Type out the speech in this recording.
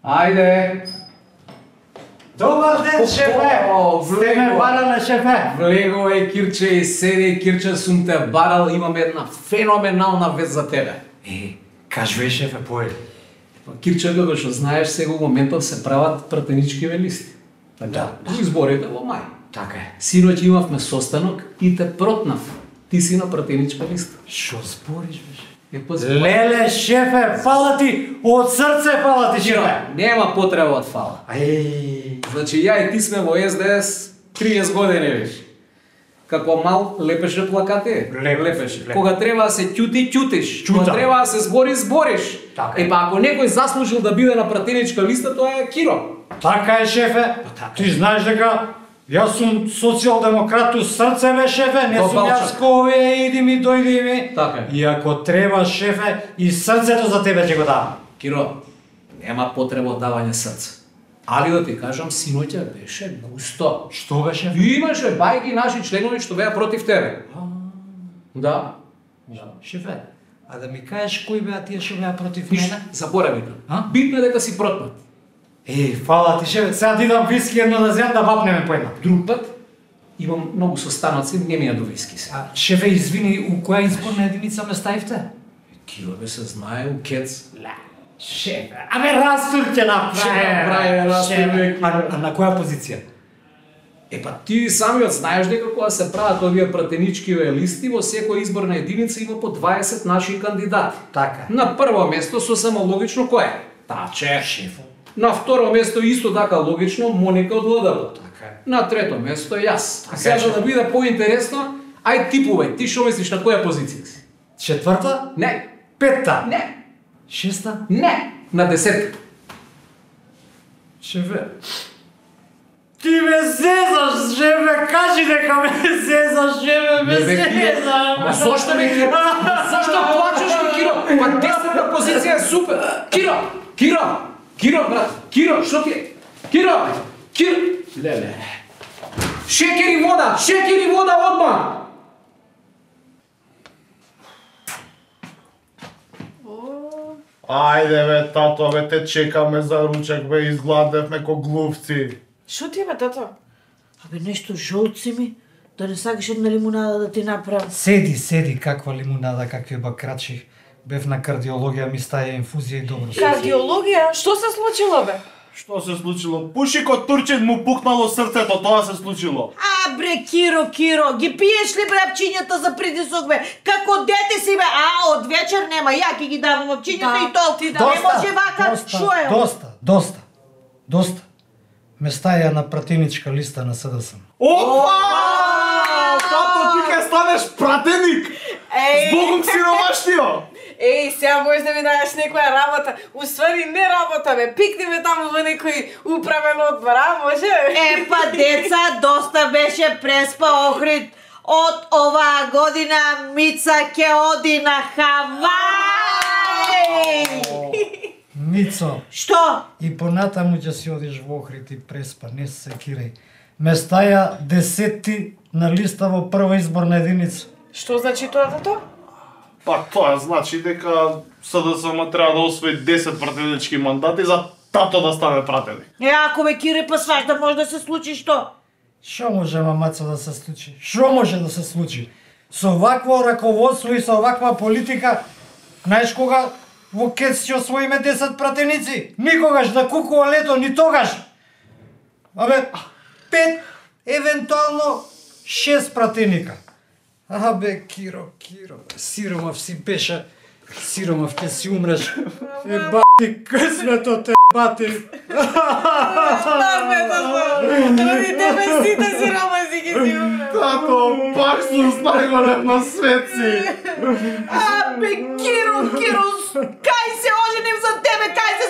Ајде! Добар ден, шефе! Сте ме барале, шефе! Влегувај, Кирче, и седи, Кирче, сум те барал, имам една феноменална вест за тебе. Кажувај, шефе, поели. Кирче, како што знаеш, сега во моментов се прават пратеничкиве листи. Да. Изборите во мај. Така е. Синоќ имавме состанок и те протнав. Ти си на пратеничка листа. Шо збориш, беше? Леле, шефе, фала ти, од срце фала ти, шефе! Нема потреба од фала. Значи, ја и ти сме во СДС 30 години веќе. Како мал лепеше плакати. Лепеше. Кога треба да се ќути, ќутиш. Кога треба да се збори, збориш. Па ако некој заслужил да биде на пратеничка листа, тоа е Киро. Така е, шефе. Ти знаеш дека јас сум социјалдемократ у срце, бе, шефе, не сум јас кој иди ми, дојди ми. Така е. И ако треба, шефе, и срцето за тебе ќе го дам. Киро, нема потреба од давање срце. Али да ти кажам, синоќа беше густо. Што беше? Имаше бајки наши членови што беа против тебе. Да. Шефе, а да ми кажеш кои беа тие што беа против мене? Заборави го. Битно е дека си протнат. Фала ти, шефе, сега ти дам виски едно да зем да вапнеме по една. Друг пат имам многу состаноци, не ми ја до виски се. Шефе, извини, у која изборна единица ме ставивте? Киро бе се знае, у Кец. Шефе, растур ќе направи. А на која позиција? Па ти самиот знаеш дека кога се прават овие пратеничкиве листи, во секоја изборна единица има по 20 наши кандидати. Така. На прво место сосема логично кој е? Таче. Шефо. На второ место исто така логично Моника од ЛДП. Така. На трето место јас. Сега за да биде поинтересно, ај типувај, ти што мислиш на која позиција си? Четврта? Не. Петта? Не. Шеста? Не. На 10. Шефе, ти ме зезаш, шефе, кажи дека ме зезаш, шефе, ме зезаш. Ма зошто ме Киро? Зошто плачеш ме Киро? Па 10-та позиција е супер. Киро, брат, Киро, што ти е? Киро! Леле. Шекер и вода одма! Ајде бе, тато, бе, те чекаме за ручек, бе, изгладевме ко глупци. Шо ти е, бе, тато? Абе, нешто жолци ми, да не сакаш една лимунада да ти направам. Седи, каква лимунада, какви бакрачи. Бев на кардиологија, ми стаја инфузија и добро. Кардиологија? Што се случило, бе? Што се случило? Пушикот турчен му пукнало срцето, тоа се случило. А, бре, Киро, ги пиеш ли, бре, апчињата за притисок, бе? Како дете си, бе? А, од вечер нема, ја ќе ги давам апчињата и толку. Не може вака, шо е? Доста. Ме стаја на пратеничка листа на СДС. Опа! Тато, ти ке станеш пратеник! Збогом сиромаштио! Сега можеш да ми даеш некоја работа. Уствари не работа, бе. Пикни ме таму во некој управен одбор, а може? Па деца, доста беше преспа Охрид. Од оваа година Мица ќе оди на Хавај! Мицо. Што? И понатаму ќе си одиш во Охрид и преспа, не се секирај. Ме стаја 10 на листа во прва изборна единица. Што значи тоа, тато? Па тоа значи дека СДСМ треба да освои 10 пратенички мандати за тато да стане пратеник. Ако ме Кире, па сважда може да се случи што? Што може, мамаца, да се случи? Што може да се случи? Со вакво раководство и со ваква политика, знаеш кога во Кец ќе освоиме 10 пратеници? Никогаш да кукува лето, ни тогаш! Абе, 5, евентуално 6 пратеника. Абе, Киро, сиромав си беше, сиромав ќе си умреш. Бати, късмето те, бати. Роди тебе сите сиромаси ги си умре. Тато, пак сум најголем на свет си. Абе, Киро, кај се оженим за тебе, кај се